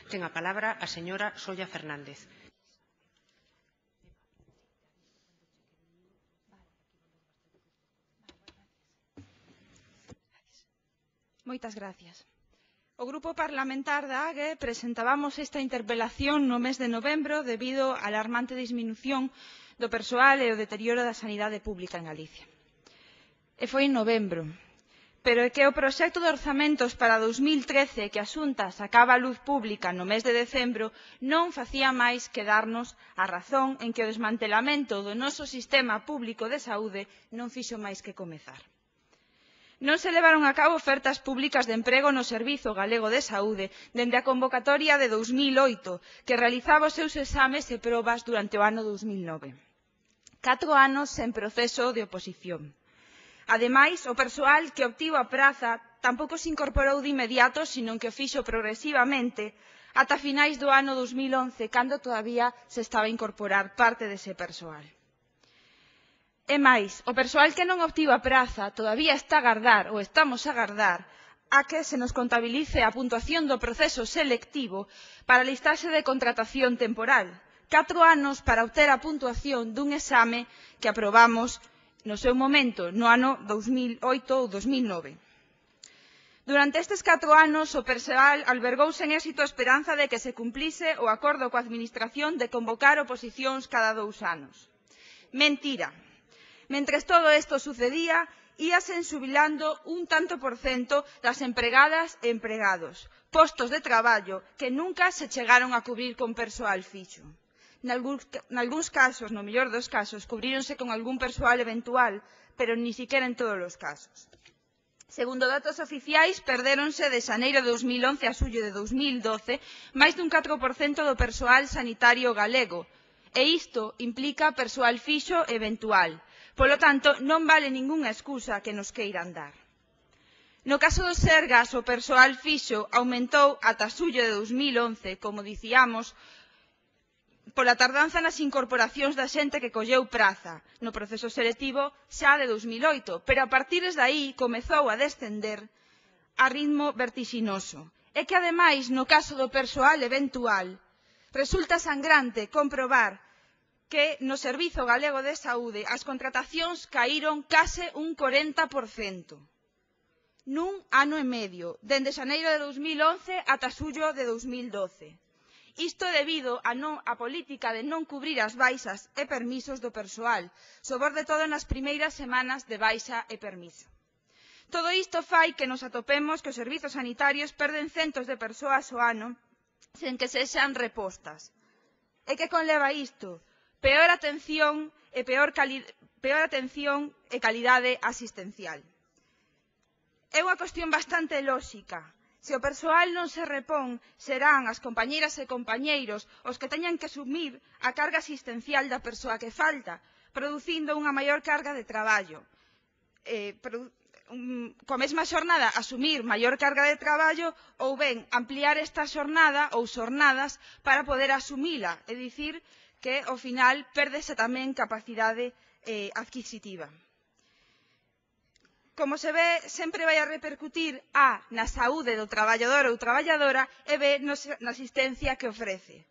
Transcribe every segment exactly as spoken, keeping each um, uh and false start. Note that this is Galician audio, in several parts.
Ten a palabra a señora Solla Fernández. Moitas gracias. O Grupo Parlamentar da A G E presentábamos esta interpelación no mes de novembro debido á alarmante disminución do persoal e o deterioro da sanidade pública en Galicia. E foi en novembro. Pero é que o proxecto de orzamentos para dous mil trece que a Xunta sacaba a luz pública no mes de decembro non facía máis que darnos a razón en que o desmantelamento do noso sistema público de saúde non fixo máis que comezar. Non se levaron a cabo ofertas públicas de emprego no Servizo Galego de Saúde dende a convocatoria de dous mil oito, que realizaba os seus exames e probas durante o ano dous mil nove. Catro anos sen proceso de oposición. Ademais, o persoal que obtivo a praza tampouco se incorporou de inmediato, senón que o fixo progresivamente ata finais do ano dous mil once, cando todavía se estaba a incorporar parte dese persoal. E máis, o persoal que non obtivo a praza todavía está a agardar, ou estamos a agardar, a que se nos contabilice a puntuación do proceso selectivo para listarse de contratación temporal. Catro anos para obter a puntuación dun exame que aprobamos no seu momento, no ano dous mil oito ou dous mil nove. Durante estes catro anos, o persoal albergouse en éxito a esperanza de que se cumplise o acordo coa Administración de convocar oposicións cada dous anos. Mentira. Mentres todo isto sucedía, íase enxubilando un tanto por cento das empregadas e empregados, postos de traballo que nunca se chegaron a cubrir con persoal fixo. Nalgúns casos, no mellor dos casos, cubríronse con algún persoal eventual, pero ni siquiera en todos os casos. Segundo datos oficiais, perdéronse de xaneiro de dous mil once a xullo de dous mil doce máis dun catro por cento do persoal sanitario galego, e isto implica persoal fixo eventual. Polo tanto, non vale ningunha excusa que nos queiran dar. No caso dos Sergas, o persoal fixo aumentou ata xullo de dous mil once, como dicíamos, pola tardanza nas incorporacións da xente que colleu praza no proceso selectivo xa de dous mil oito, pero a partir de aí comezou a descender a ritmo vertixinoso. É que, ademais, no caso do persoal eventual, resulta sangrante comprobar que no Servizo Galego de Saúde as contratacións caíron case un corenta por cento nun ano e medio, dende xaneiro de dous mil once ata xullo de dous mil doce. Isto debido a, non, a política de non cubrir as baixas e permisos do persoal, sobre todo nas primeiras semanas de baixa e permiso. Todo isto fai que nos atopemos que os servizos sanitarios perden centos de persoas ao ano sen que sexan repostas. E que conleva isto? Peor atención e peor, cali, peor atención e calidade asistencial. É unha cuestión bastante lóxica. Se o persoal non se repón, serán as compañeiras e compañeiros os que teñan que asumir a carga asistencial da persoa que falta, producindo unha maior carga de traballo. Eh, produ um, coa mesma xornada, asumir maior carga de traballo ou ben ampliar esta xornada ou xornadas para poder asumila, é dicir, que ao final pérdese tamén capacidade eh, adquisitiva. Como se ve, sempre vai a repercutir A na saúde do traballador ou traballadora e B na asistencia que ofrece.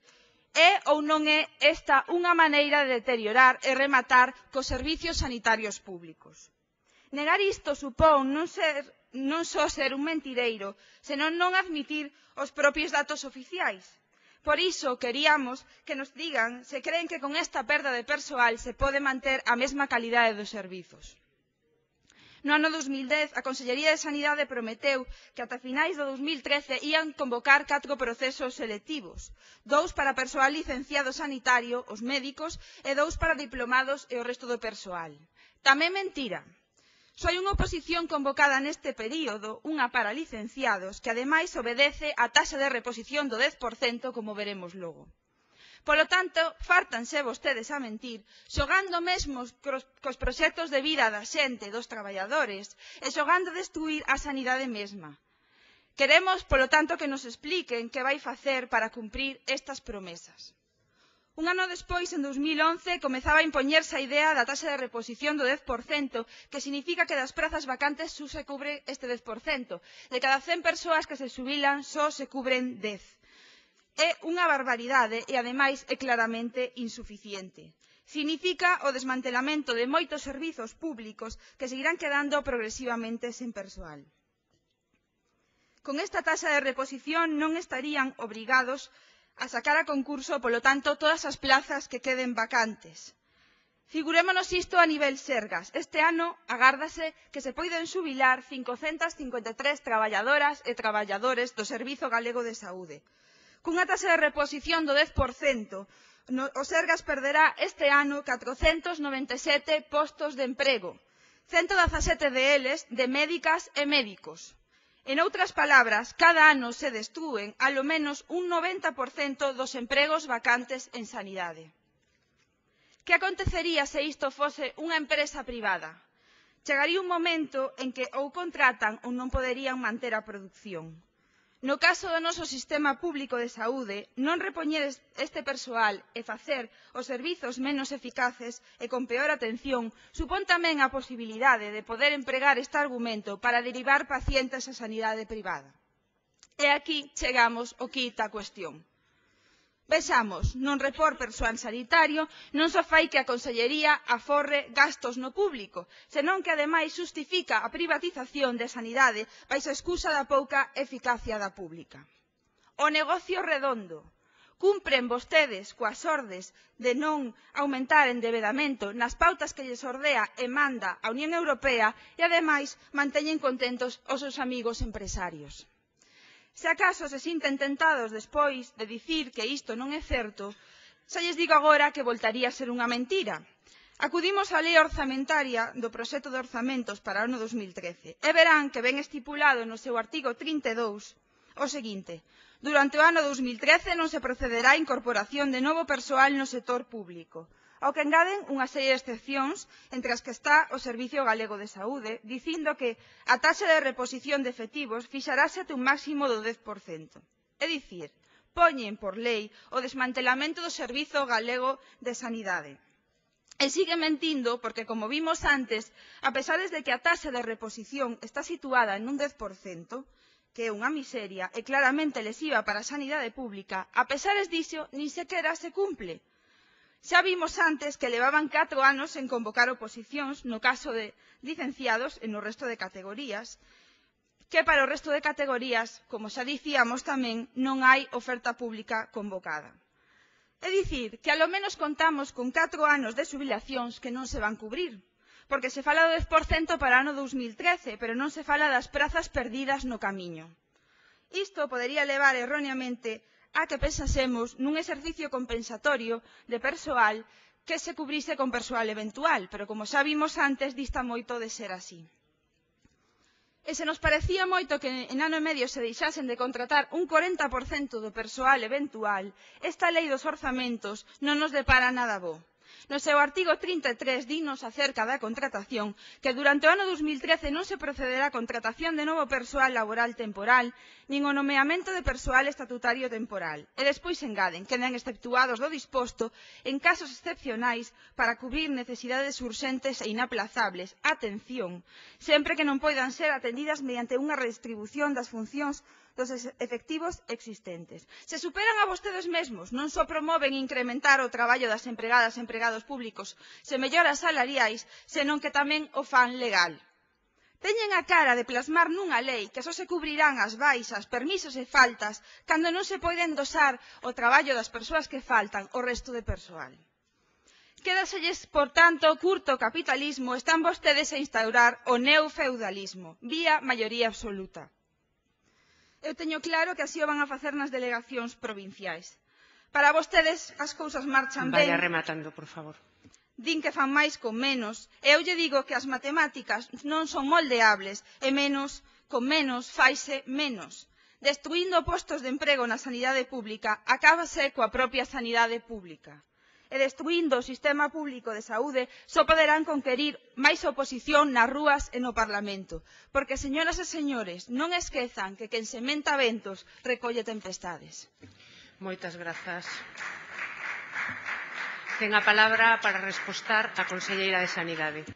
É ou non é esta unha maneira de deteriorar e rematar cos servicios sanitarios públicos? Negar isto supón non, ser, non só ser un mentireiro, senón non admitir os propios datos oficiais. Por iso, queríamos que nos digan se creen que con esta perda de persoal se pode manter a mesma calidade dos servizos. No ano dous mil dez, a Consellería de Sanidade prometeu que ata finais do dous mil trece ían convocar catro procesos selectivos, dous para persoal licenciado sanitario, os médicos, e dous para diplomados e o resto do persoal. Tamén mentira. Só hai unha oposición convocada neste período, unha para licenciados, que ademais obedece á taxa de reposición do dez por cento, como veremos logo. Polo tanto, fártanse vostedes a mentir, xogando mesmo cos proxectos de vida da xente, dos traballadores, e xogando a destruir a sanidade mesma. Queremos, polo tanto, que nos expliquen que vai facer para cumprir estas promesas. Un ano despois, en dous mil once, comezaba a impoñerse a idea da taxa de reposición do dez por cento, que significa que das prazas vacantes só se cubre este dez por cento. De cada cen persoas que se xubilan, só se cubren dez. É unha barbaridade e, ademais, é claramente insuficiente. Significa o desmantelamento de moitos servizos públicos que seguirán quedando progresivamente sen persoal. Con esta taxa de reposición non estarían obrigados a sacar a concurso, polo tanto, todas as plazas que queden vacantes. Figurémonos isto a nivel Sergas. Este ano agárdase que se poiden xubilar cincocentas cincuenta e tres traballadoras e traballadores do Servizo Galego de Saúde. Cunha taxa de reposición do dez por cento, o Sergas perderá este ano catrocentos noventa e sete postos de emprego, cento dezasete deles de médicas e médicos. En outras palabras, cada ano se destrúen alo menos un noventa por cento dos empregos vacantes en sanidade. Que acontecería se isto fose unha empresa privada? Chegaría un momento en que ou contratan ou non poderían manter a produción. No caso do noso sistema público de saúde, non repoñer este persoal e facer os servizos menos eficaces e con peor atención supón tamén a posibilidade de poder empregar este argumento para derivar pacientes á sanidade privada. E aquí chegamos ao quid da cuestión. Vexamos, non repor persoal sanitario non só fai que a Consellería aforre gastos no público, senón que ademais xustifica a privatización de sanidade baixo a excusa da pouca eficacia da pública. O negocio redondo. Cumpren vostedes coas ordes de non aumentar endebedamento nas pautas que lles ordea e manda a Unión Europea e ademais manteñen contentos os seus amigos empresarios. Se acaso se sinten tentados despois de dicir que isto non é certo, xa lles digo agora que voltaría a ser unha mentira. Acudimos á lei orzamentaria do proxecto de orzamentos para o ano dos mil trece e verán que ven estipulado no seu artigo trinta e dous o seguinte: durante o ano dos mil trece non se procederá á incorporación de novo persoal no sector público, ao que engaden unha serie de excepcións, entre as que está o Servicio Galego de Saúde, dicindo que a taxa de reposición de efectivos fixarase ate un máximo do dez por cento. É dicir, poñen por lei o desmantelamento do Servizo Galego de Sanidade. E sigue mentindo porque, como vimos antes, a pesar de que a taxa de reposición está situada en un dez por cento, que é unha miseria e claramente lesiva para a sanidade pública, a pesar diso, nin sequera se cumple. Xa vimos antes que levaban catro anos en convocar oposicións no caso de licenciados e no resto de categorías, que para o resto de categorías, como xa dicíamos tamén, non hai oferta pública convocada. É dicir, que alo menos contamos con catro anos de xubilacións que non se van cubrir, porque se fala do dez por cento para o ano dos mil trece, pero non se fala das prazas perdidas no camiño. Isto podería levar erróneamente a que pensásemos nun exercicio compensatorio de persoal que se cubrise con persoal eventual, pero como xa vimos antes, dista moito de ser así. E se nos parecía moito que en ano e medio se deixasen de contratar un corenta por cento do persoal eventual, esta lei dos orzamentos non nos depara nada bo. No seu artigo trinta e tres dinos acerca da contratación que durante o ano dos mil trece non se procederá a contratación de novo persoal laboral temporal nin o nomeamento de persoal estatutario temporal. E despois engaden, quedan exceptuados do disposto en casos excepcionais para cubrir necesidades urxentes e inaplazables, atención, sempre que non poidan ser atendidas mediante unha redistribución das funcións dos efectivos existentes. Se superan a vostedes mesmos, non só promoven incrementar o traballo das empregadas e empregados públicos, se melloras salariais, senón que tamén o fan legal. Teñen a cara de plasmar nunha lei que só se cubrirán as baixas, permisos e faltas cando non se pode endosar o traballo das persoas que faltan ao resto de persoal. Quédaselles, por tanto, curto o capitalismo, están vostedes a instaurar o neofeudalismo, vía maioría absoluta. Eu teño claro que así o van a facer nas delegacións provinciais. Para vostedes as cousas marchan ben. Vaya rematando, por favor. Din que fan máis con menos, e eu lle digo que as matemáticas non son moldeables, e menos con menos faise menos. Destruindo postos de emprego na sanidade pública, acábase coa propia sanidade pública. E destruindo o sistema público de saúde só poderán conquerir máis oposición nas rúas e no Parlamento. Porque, señoras e señores, non esquezan que quen sementa ventos recolle tempestades. Moitas grazas. Ten a palabra para respostar a conselleira de Sanidade.